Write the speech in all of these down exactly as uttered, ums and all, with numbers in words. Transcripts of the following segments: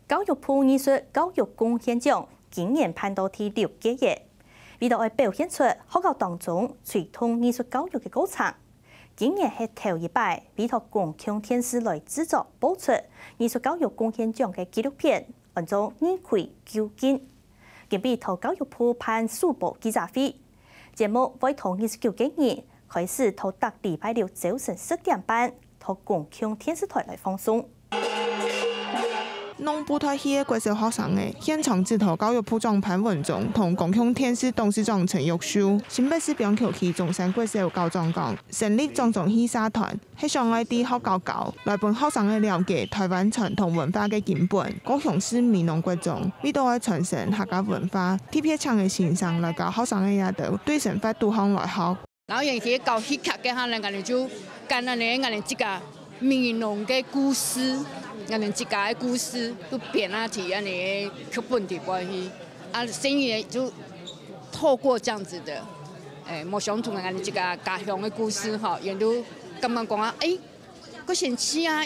教育部藝術教育貢獻獎今年辦到第六屆了，為著愛表現出學校當中推動藝術教育个過程。今年係頭一擺為著公共電視來製作播出藝術教育貢獻獎个紀錄片，安到《二葵究竟》。今晡日在教育部辦首播記者會，節目會在二十九个日開始，在逐禮拜六朝晨十點半，在公共電視台來放送。弄不太戲个國小學生仔，現場指導教育部長潘文忠同公共電視董事長陳玉秀。新北市板橋區中山國小校長講，成立莊莊戲社團，係想愛在學校教，來分學生仔了解台灣傳統文化个根本。高雄市美濃國中，為著愛傳承客家文化，特別請个先生來教學生仔這兜對生活導向來學。 然後尤其搞戲劇个哈，𠊎等就將𠊎等𠊎等自家美濃个故事，𠊎等自家个故事都編啊在恁呢个劇本底背去。啊，生意就透過這樣子的，欸，無相同个𠊎等自家家鄉个故事哈，也都感覺講啊，欸， 較神奇啊！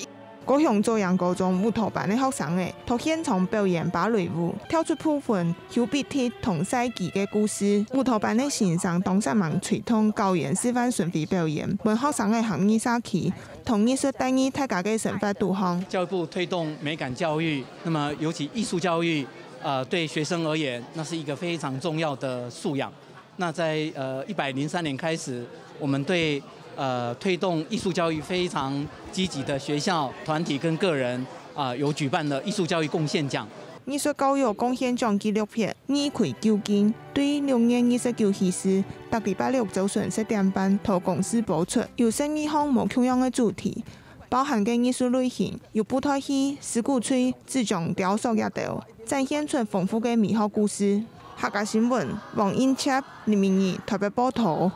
高雄左營高中舞蹈班个學生仔，在現場表演芭蕾舞，跳出部分邱碧娣同賽琪个故事。舞蹈班个先生當煞猛推動表演示範巡迴表演，分學生仔行藝社區，同藝術帶入大家个生活肚項。教育部推動美感教育，那麼尤其藝術教育，呃，對學生而言，那是一個非常重要的素養。 那在呃一百零三年開始，我們對呃推動藝術教育非常積極的學校、團體跟個人啊、有舉辦了藝術教育貢獻獎。藝術教育貢獻獎紀錄片《二葵究竟》對六月二十九開始，逐禮拜六朝晨十點半在公視播出，有十二項無共樣个主題，包含个藝術類型有布袋戲、獅鼓吹、紙張雕塑這兜，展現出豐富个美學故事。客家新聞，王英哲、林明儀台北報導。